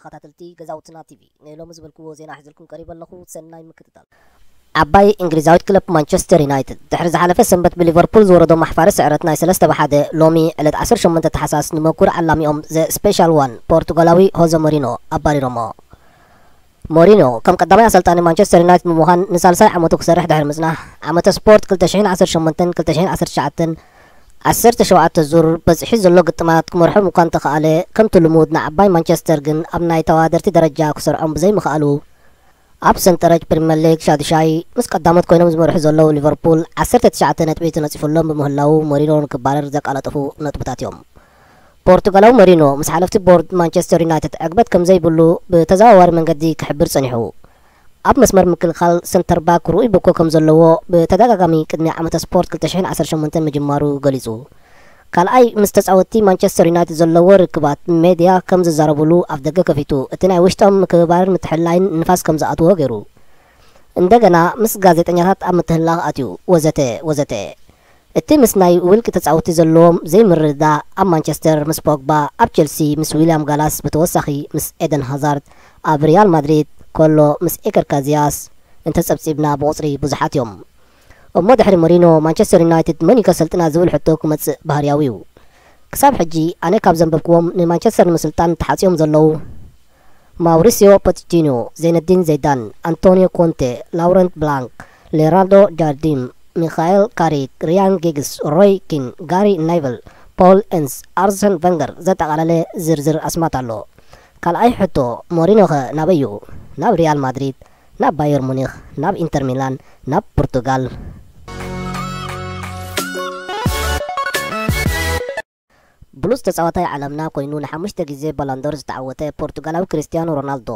ተኸታተልቲ ገዛውትና ቲቪ፣ ንሎሚ ዝበልክዎ ዜና ሒዝልኩም ቀሪበ ኣለኹ። ሰናይ ምክትታል። ዓባይ እንግሊዛዊት ክለብ ማንቸስተር ዩናይትድ፣ ድሕሪ ዝሓለፈ ሰንበት ብሊቨርፑል ዝወረዶ ማሕፋሪ ስዕረት ናይ ሰለስተ ብ ሓደ፣ ሎሚ ዕለት ዓሰርተ ሸሞንተ ታሕሳስ ንመኩር ዓላሚኦም ዘ ስፔሻል ዋን ፖርቱጋላዊ ሆዘ ሞሪኖ ኣባሪሮሞ። ሞሪኖ ከም ቀዳማይ ኣሰልጣኒ ማንቸስተር ዩናይትድ ብምዃን ንሳልሳይ ዓመቱ ክሰርሕ ድሕሪ ምጽናሕ፣ ዓመተ ስፖርት ክልተ ሽሕን ዓሰርተ ሸሞንተን ክልተ ሽሕን ዓሰርተ ትሽዓተን ዓሰርተ ሸውዓተ ዙር በጺሑ ዘሎ ግጥማት ክመርሖም እኳ እንተኸኣለ፣ ከምቲ ልሙድ ንዓባይ ማንቸስተር ግን ኣብ ናይ ተወዳደርቲ ደረጃ ክሰርዖም ብዘይምኽኣሉ፣ ኣብ ሰንጠረጅ ፕሪምየር ሊግ ሻዱሻይ ምስ ቀዳሞት ኮይኖም ዝመርሑ ዘለዉ ሊቨርፑል ዓሰርተ ትሽዓተ ነጥቢ ተነጺፉሎም ብምህላዉ፣ ሞሪኖ ንክባረር ዘቃላጠፉ ነጥብታት እዮም። ፖርቱጋላዊ ሞሪኖ ምስ ሓለፍቲ ቦርድ ማንቸስተር ዩናይትድ ዕግበት ከም ዘይብሉ ብተዘዋዋሪ መንገዲ ክሕብር ጸኒሑ። ኣብ መስመር ምክልኻል ሰንተር ባክ ርኡይ ብኮ ከም ዘለዎ ብተደጋጋሚ ቅድሚ ዓመተ ስፖርት ክልተ ሽሕን ዓሰርተ ሸሞንተን ምጅማሩ ገሊጹ። ካልኣይ ምስ ተጻወትቲ ማንቸስተር ዩናይትድ ዘለዎ ርክባት ሜድያ ከም ዝዛረብሉ ኣፍ ደገ ከፊቱ፣ እቲ ናይ ውሽጦም ምክብባርን ምትሕልላይን ንፋስ ከም ዝኣትዎ ገይሩ። እንደገና ምስ ጋዜጠኛታት ኣብ ምትህልላኽ ኣትዩ፣ ወዘተ ወዘተ። እቲ ምስ ናይ ውልቂ ተጻወትቲ ዘለዎም ዘይምርድዳእ፣ ኣብ ማንቸስተር ምስ ፖግባ፣ ኣብ ቸልሲ ምስ ዊልያም ጋላስ፣ ብተወሳኺ ምስ ኤደን ሃዛርድ፣ ኣብ ሪያል ማድሪድ ከሎ ምስ ኤከር ካዚያስ እንተጸብጺብና ብቑጽሪ ብዙሓት እዮም። እሞ ድሕሪ ሞሪኖ ማንቸስተር ዩናይትድ መን እዩ ከሰልጥና ዝብል ሕቶ ክመጽእ ባህርያዊ እዩ። ክሳብ ሕጂ ኣነ ካብ ዘንበብክዎም ንማንቸስተር ንምስልጣን ተሓጽዮም ዘለዉ ማውሪሲዮ ፖቼቲኖ፣ ዘይነዲን ዘይዳን፣ ኣንቶኒዮ ኮንቴ፣ ላውረንት ብላንክ፣ ሌናርዶ ጃርዲን፣ ሚካኤል ካሪክ፣ ሪያን ጊግስ፣ ሮይ ኪን፣ ጋሪ ኔቨል፣ ፖል ኤንስ፣ ኣርሰን ቨንገር ዘጠቓለለ ዝርዝር ኣስማት ኣሎ። ካልኣይ ሕቶ፣ ሞሪኖኸ ናበይ እዩ? ናብ ሪያል ማድሪድ፣ ናብ ባየር ሙኒኽ፣ ናብ ኢንተር ሚላን፣ ናብ ፖርቱጋል። ብሉጽ ተጻዋታይ ዓለምና ኮይኑ ንሓሙሽተ ግዜ ባሎንዶር ዝተዓወተ ፖርቱጋላዊ ክርስቲያኖ ሮናልዶ፣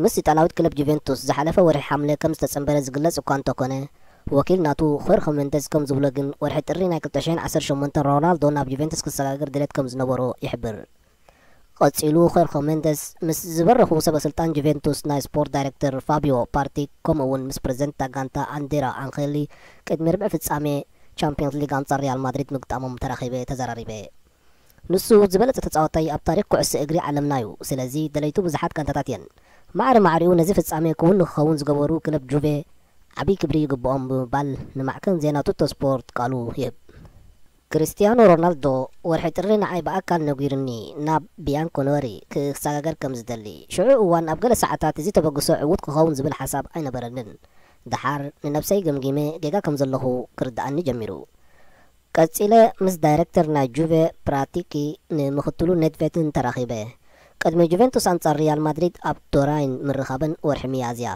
ምስ ኢጣልያዊት ክለብ ጁቬንቱስ ዝሓለፈ ወርሒ ሓምለ ከም ዝተጸንበረ ዝግለጽ እኳ እንተኾነ፣ ወኪል ናቱ ኾርኸ ሜንደዝ ከም ዝብሎ ግን፣ ወርሒ ጥሪ ናይ ክልተ ሽሕን ዓሰርተ ሸሞንተን ሮናልዶ ናብ ጁቬንቱስ ክሰጋገር ድሌት ከም ዝነበሮ ይሕብር። ቀጺሉ ኾርኸ ሜንደዝ ምስ ዝበረኹ ሰበ ስልጣን ጁቬንቱስ ናይ ስፖርት ዳይሬክተር ፋቢዮ ፓርቲክ፣ ከምኡ እውን ምስ ፕረዚደንት እታ ጋንታ ኣንዴራ ኣንኸሊ ቅድሚ ርብዒ ፍጻሜ ቻምፒዮንስ ሊግ ኣንጻር ሪያል ማድሪድ ምግጣሞም ተራኺበ ተዘራሪበ። ንሱ ዝበለጸ ተጻዋታይ ኣብ ታሪኽ ኩዕሶ እግሪ ዓለምና እዩ። ስለዚ ደለይቱ ብዙሓት ጋንታታት እየን። ማዕረ ማዕሪኡ ነዚ ፍጻሜ ክውን ንክኸውን ዝገበሩ ክለብ ጁቬ ዓብዪ ክብሪ ይግብኦም ብምባል ንማዕከን ዜና ቱቶ ስፖርት ቃሉ ይህብ። ክርስትያኖ ሮናልዶ ወርሒ ጥሪ ንዓይ ብኣካል ነጊሩኒ ናብ ቢያንኮነሪ ክሰጋገር ከም ዝደሊ። ሽዑ እዋን ኣብ ገለ ሰዓታት እዚ ተበግሶ ዕዉት ክኸውን ዝብል ሓሳብ ኣይነበረንን። ደሓር ንነብሰይ ገምጊመ ጌጋ ከም ዘለኹ ክርድኣኒ ጀሚሩ። ቀጺለ ምስ ዳይረክተር ናይ ጁቬ ፕራቲኪ ንምኽትሉ ኔድቬድን ተራኺበ። ቅድሚ ጁቬንቱስ ኣንጻር ሪያል ማድሪድ ኣብ ቶራይን ምርኻበን ወርሒ ሚያዝያ።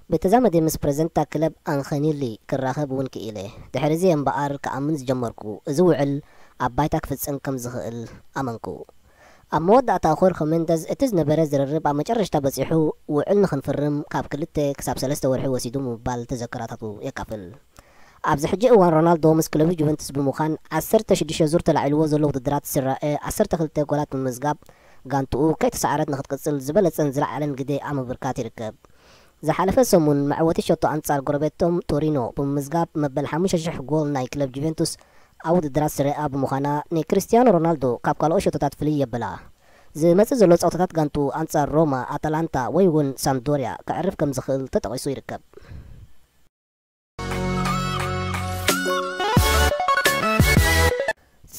ብተዛመዲ ምስ ፕረዚደንት እታ ክለብ ኣንኸኒሊ ክራኸብ እውን ክኢለ። ድሕሪ እዚ እምበኣር ክኣምን ዝጀመርኩ፣ እዚ ውዕል ኣብ ባይታ ክፍጸም ከም ዝኽእል ኣመንኩ። ኣብ መወዳእታ ኾርኸ ሜንደዝ እቲ ዝነበረ ዝርርብ ኣብ መጨረሽታ በጺሑ፣ ውዕል ንኽንፍርም ካብ ክልተ ክሳብ ሰለስተ ወርሒ ወሲዱ ምባል ተዘክሮታቱ የካፍል። ኣብዚ ሕጂ እዋን ሮናልዶ ምስ ክለቡ ጁቨንቱስ ብምዃን ዓሰርተ ሽዱሽተ ዙር ተላዒልዎ ዘሎ ውድድራት ስራኤ ዓሰርተ ክልተ ጎላት ብምምዝጋብ ጋንትኡ ከይተሳዕረት ንኽትቅጽል ዝበለጸን ዝለዓለን ግደ ኣብ ምብርካት ይርከብ። ዝሓለፈ ሰሙን መዕወቲ ሸቶ ኣንጻር ጎረቤቶም ቶሪኖ ብምምዝጋብ መበል ሓሙሽተ ሽሕ ጎል ናይ ክለብ ጁቨንቱስ ኣብ ውድድራት ስራኤ ብምዃና ንክሪስቲያኖ ሮናልዶ ካብ ካልኦት ሸቶታት ፍልይ የብላ። ዝመጽእ ዘሎ ጸወታታት ጋንትኡ ኣንጻር ሮማ፣ ኣታላንታ ወይ እውን ሳምፕዶርያ ከዕርፍ ከም ዝኽእል ተጠቒሱ ይርከብ።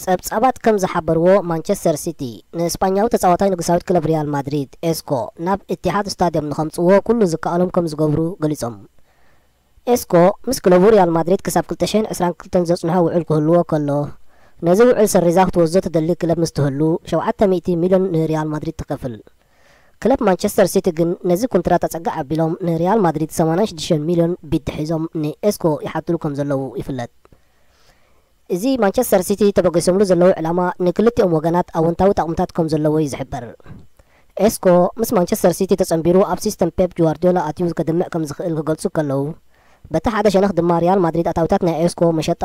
ጸብጻባት ከም ዝሓበርዎ፣ ማንቸስተር ሲቲ ንእስጳኛዊ ተጻዋታይ ንጉሳዊት ክለብ ሪያል ማድሪድ ኤስኮ ናብ ኢቲሃድ ስታድዮም ንኸምጽእዎ ኩሉ ዝከኣሎም ከም ዝገብሩ ገሊጾም። ኤስኮ ምስ ክለቡ ሪያል ማድሪድ ክሳብ ክልተ ሽሕን ዕስራን ክልተን ዘጽንሖ ውዕል ክህልዎ ከሎ፣ ነዚ ውዕል ሰሪዛ ክትወስዶ ትደሊ ክለብ ምስ ትህሉ፣ ሸውዓተ ሚእቲ ሚልዮን ንሪያል ማድሪድ ትኸፍል። ክለብ ማንቸስተር ሲቲ ግን ነዚ ኮንትራት ኣጸግዕ ኣቢሎም ንሪያል ማድሪድ ሰማንያን ሽዱሽተን ሚልዮን ቢድ ሒዞም ንኤስኮ ይሓትሉ ከም ዘለዉ ይፍለጥ። እዚ ማንቸስተር ሲቲ ተበገሶምሉ ዘለዉ ዕላማ ንክልቲኦም ወገናት ኣወንታዊ ጠቕምታት ከም ዘለዎ እዩ ዝሕበር። ኤስኮ ምስ ማንቸስተር ሲቲ ተጸንቢሩ ኣብ ሲስተም ፔፕ ጓርዲዮላ ኣትዩ ከድምዕ ከም ዝኽእል ክገልጹ ከለዉ፣ በቲ ሓደ ሸነኽ ድማ ሪያል ማድሪድ ኣታዊታት ናይ ኤስኮ መሸጣ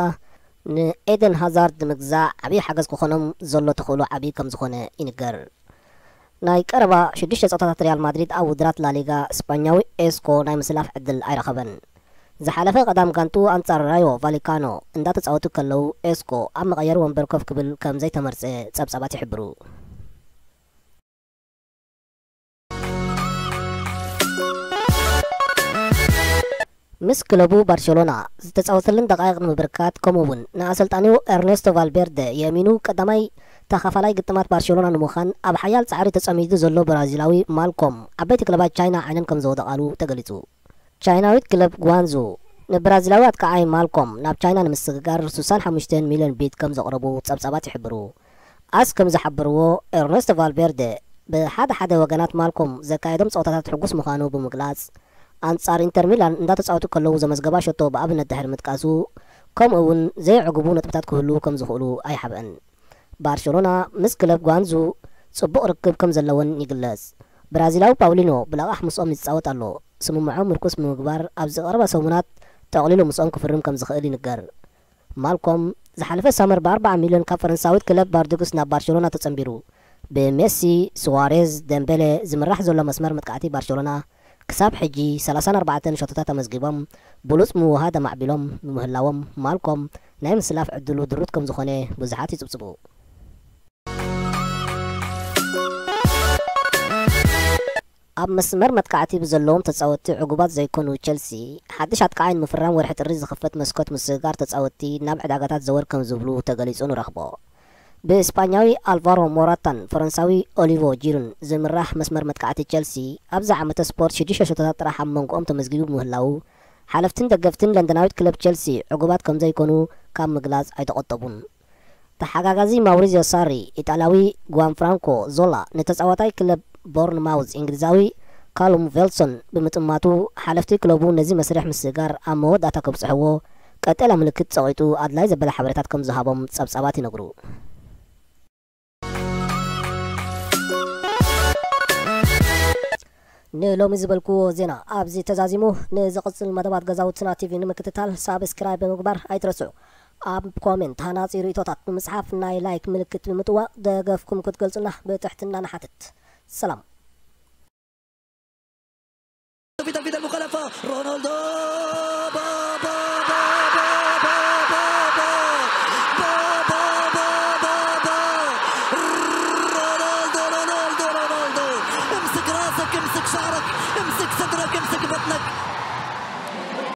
ንኤደን ሃዛርድ ንምግዛእ ዓብዪ ሓገዝ ክኾኖም ዘሎ ተኽእሎ ዓብዪ ከም ዝኾነ ይንገር። ናይ ቀረባ ሽዱሽተ ጸወታታት ሪያል ማድሪድ ኣብ ውድድራት ላሊጋ ስጳኛዊ ኤስኮ ናይ ምስላፍ ዕድል ኣይረኸበን። ዝሓለፈ ቀዳም ጋንትኡ ኣንጻር ራዮ ቫሊካኖ እንዳተጻወቱ ከለዉ ኤስኮ ኣብ መቐየሪ ወንበር ኮፍ ክብል ከም ዘይተመርጸ ጸብጻባት ይሕብሩ። ምስ ክለቡ ባርሴሎና ዝተጻወተለን ደቃይቕ ንምብርካት፣ ከምኡ እውን ንኣሰልጣኒኡ ኤርኔስቶ ቫልቬርደ የእሚኑ ቀዳማይ ተኻፋላይ ግጥማት ባርሴሎና ንምዃን ኣብ ሓያል ጻዕሪ ተጸሚዱ ዘሎ ብራዚላዊ ማልኮም፣ ዓበይቲ ክለባት ቻይና ዓይነን ከም ዘወደቓሉ ተገሊጹ። ቻይናዊት ክለብ ጓንዙ ንብራዚላዊ ኣጥቃዓይ ማልኮም ናብ ቻይና ንምስግጋር ስሳን ሓሙሽተን ሚልዮን ቢት ከም ዘቕረቡ ጸብጻባት ይሕብሩ። ኣስ ከም ዝሓበርዎ፣ ኤርነስቶ ቫልቬርደ ብሓደ ሓደ ወገናት ማልኮም ዘካየዶም ጸወታታት ሕጉስ ምዃኑ ብምግላጽ፣ ኣንጻር ኢንተር ሚላን እንዳተጻወቱ ከለዉ ዘመዝገባ ሸቶ ብኣብነት ድሕሪ ምጥቃሱ፣ ከምኡ እውን ዘይዕጉቡ ነጥብታት ክህሉ ከም ዝኽእሉ ኣይሓብአን። ባርሴሎና ምስ ክለብ ጓንዙ ጽቡቕ ርክብ ከም ዘለወን ይግለጽ። ብራዚላዊ ፓውሊኖ ብለቓሕ ምስኦም ይጻወት ኣሎ። ስምምዖም ምርኩስ ብምግባር፣ ኣብዚ ቀረባ ሰሙናት ጠቕሊሉ ምስኦም ክፍርም ከም ዝኽእል ይንገር። ማልኮም ዝሓለፈ ሳመር ብ ኣርባዓ ሚልዮን ካብ ፈረንሳዊት ክለብ ባርዱግስ ናብ ባርሴሎና ተጸንቢሩ። ብሜሲ፣ ሱዋሬዝ፣ ደምቤሌ ዝምራሕ ዘሎ መስመር መጥቃዕቲ ባርሴሎና ክሳብ ሕጂ ሰላሳን ኣርባዕተን ሸቶታት ኣመዝጊቦም፣ ብሉጽ ምውህሃድ ኣማዕቢሎም ብምህላዎም፣ ማልኮም ናይ ምስላፍ ዕድሉ ድሩት ከም ዝኾነ ብዙሓት ይጽብጽቡ። ኣብ መስመር መጥቃዕቲ ብዘለዎም ተጻወትቲ ዕጉባት ዘይኮኑ ቸልሲ፣ ሓድሽ ኣጥቃዓይ ንምፍራም ወርሒ ጥሪ ዝኽፈት መስኮት ምስግጋር ተጻወትቲ ናብ ዕዳጋታት ዘወር ከም ዝብሉ ተገሊጹ ንረኽቦ። ብእስጳኛዊ ኣልቫሮ ሞራታን ፈረንሳዊ ኦሊቮ ጂሩን ዝምራሕ መስመር መጥቃዕቲ ቸልሲ፣ ኣብዚ ዓመተ ስፖርት ሽዱሽተ ሸቶታት ጥራሕ ኣብ መንጎኦም ተመዝጊቡ ብምህላዉ፣ ሓለፍትን ደገፍትን ለንደናዊት ክለብ ቸልሲ ዕጉባት ከም ዘይኮኑ ካብ ምግላጽ ኣይተቖጠቡን። ተሓጋጋዚ ማውሪዚዮ ሳሪ፣ ኢጣልያዊ ጓንፍራንኮ ዞላ ንተጻዋታይ ክለብ ቦርንማውዝ እንግሊዛዊ ካሉም ቬልሶን ብምጥማቱ፣ ሓለፍቲ ክለቡ ነዚ መስርሕ ምስግጋር ኣብ መወዳእታ ከብጽሕዎ ቀጠልያ ምልክት ጸቒጡ ኣድላይ ዘበለ ሓበሬታት ከም ዝሃቦም ጸብጻባት ይነግሩ። ንሎሚ ዝበልክዎ ዜና ኣብዚ ተዛዚሙ። ንዝቕጽል መደባት ገዛውትና ቲቪ ንምክትታል ሳብስክራይብ ብምግባር ኣይትረስዑ። ኣብ ኮሜንት ሃናጺ ርእይቶታት ብምጽሓፍ ናይ ላይክ ምልክት ብምጥዋቕ ደገፍኩም ክትገልጹና ብትሕትና ንሓትት። ሰላም።